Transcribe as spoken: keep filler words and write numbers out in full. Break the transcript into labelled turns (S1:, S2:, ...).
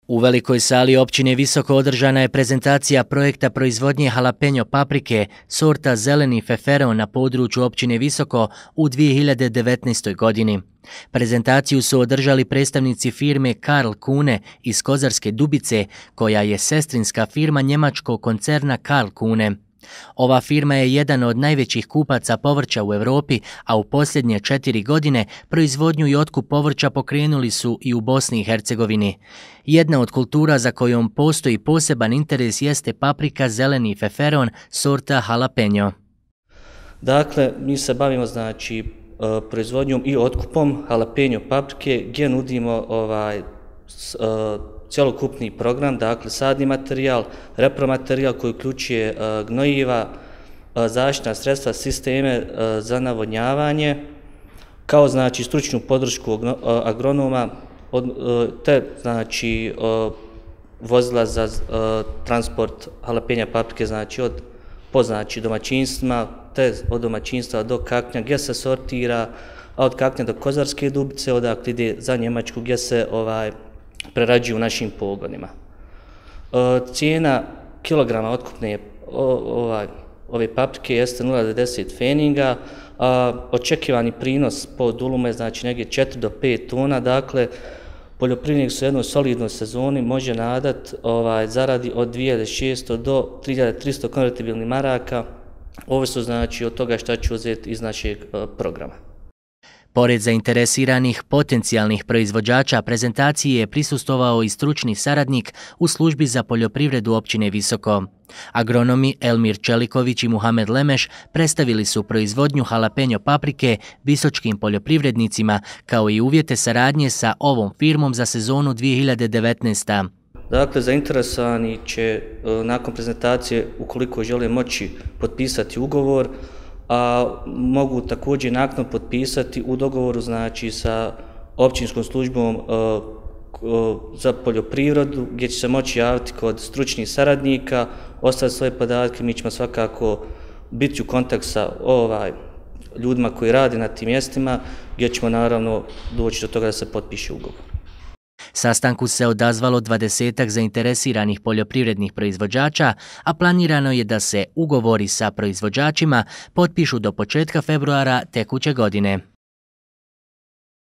S1: U velikoj sali općine Visoko održana je prezentacija projekta proizvodnje halapenjo paprike sorta zeleni feferon na području općine Visoko u dvije hiljade devetnaestoj. godini. Prezentaciju su održali predstavnici firme Karl Kuhne iz Kozarske Dubice, koja je sestrinska firma njemačkog koncerna Karl Kuhne. Ova firma je jedan od najvećih kupaca povrća u Europi, a u posljednje četiri godine proizvodnju i otkup povrća pokrenuli su i u Bosni i Hercegovini. Jedna od kultura za kojom postoji poseban interes jeste paprika zeleni feferon sorta halapenjo.
S2: Dakle, mi se bavimo znači proizvodnjom i otkupom halapenjo paprike gdje nudimo ovaj cjelokupni program, dakle sadni materijal, repromaterijal koji uključuje gnojiva, zaštitna sredstva, sisteme za navodnjavanje, kao znači stručnu podršku agronoma, te znači vozila za transport halapenja paprike, znači od po znači domaćinstvima, te od domaćinstva do Kaknja gdje se sortira, a od Kaknja do Kozarske Dubice, odakle ide za Njemačku gdje se ovaj prerađuju u našim pogonima. Cijena kilograma otkupne ovaj, ove paprike jeste nula zarez devedeset feninga, a očekivani prinos po dulumu je znači negdje četiri do pet tona, dakle poljoprivrednik su u jednoj solidnoj sezoni može nadat ovaj, zaradi od dvije hiljade šesto do tri hiljade tristo konvertibilnih maraka, ovisno znači od toga šta ću uzeti iz našeg programa.
S1: Pored zainteresiranih potencijalnih proizvođača, prezentaciji je prisustvovao i stručni saradnik u službi za poljoprivredu općine Visoko. Agronomi Elmir Čeliković i Muhamed Lemeš predstavili su proizvodnju halapenjo paprike visočkim poljoprivrednicima, kao i uvjete saradnje sa ovom firmom za sezonu dvije hiljade devetnaeste.
S2: Dakle, zainteresovani će nakon prezentacije, ukoliko žele moći potpisati ugovor, a mogu također naknadno potpisati u dogovoru znači sa općinskom službom za poljoprivredu, gdje će se moći javiti kod stručnih saradnika, ostaviti svoje podatke, mi ćemo svakako biti u kontakt sa ovaj ljudima koji rade na tim mjestima, gdje ćemo naravno doći do toga da se potpiše ugovor.
S1: Sastanku se odazvalo dvadesetak zainteresiranih poljoprivrednih proizvođača, a planirano je da se ugovori sa proizvođačima potpišu do početka februara tekuće godine.